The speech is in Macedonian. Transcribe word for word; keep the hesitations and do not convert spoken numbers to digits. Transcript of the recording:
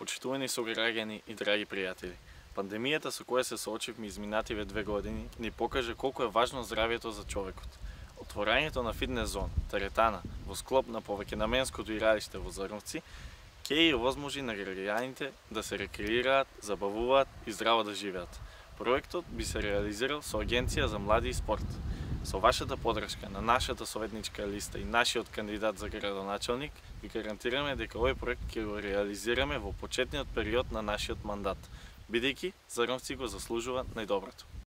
Почитувани сограѓани и драги пријатели, пандемијата со која се соочивме изминативе две години ни покажа колку е важно здравјето за човекот. Отворањето на фитнес зон, теретана, во склоп на повеќенаменското игралиште во Зрновци, ќе ја овозможи на граѓаните да се рекреираат, забавуваат и здраво да живеат. Проектот би се реализирал со Агенција за млади и спорт. Со вашата подршка на нашата советничка листа и нашиот кандидат за градоначелник, ви гарантираме дека овој проект ќе го реализираме во почетниот период на нашиот мандат, бидејќи Зрновци го заслужуваат најдоброто.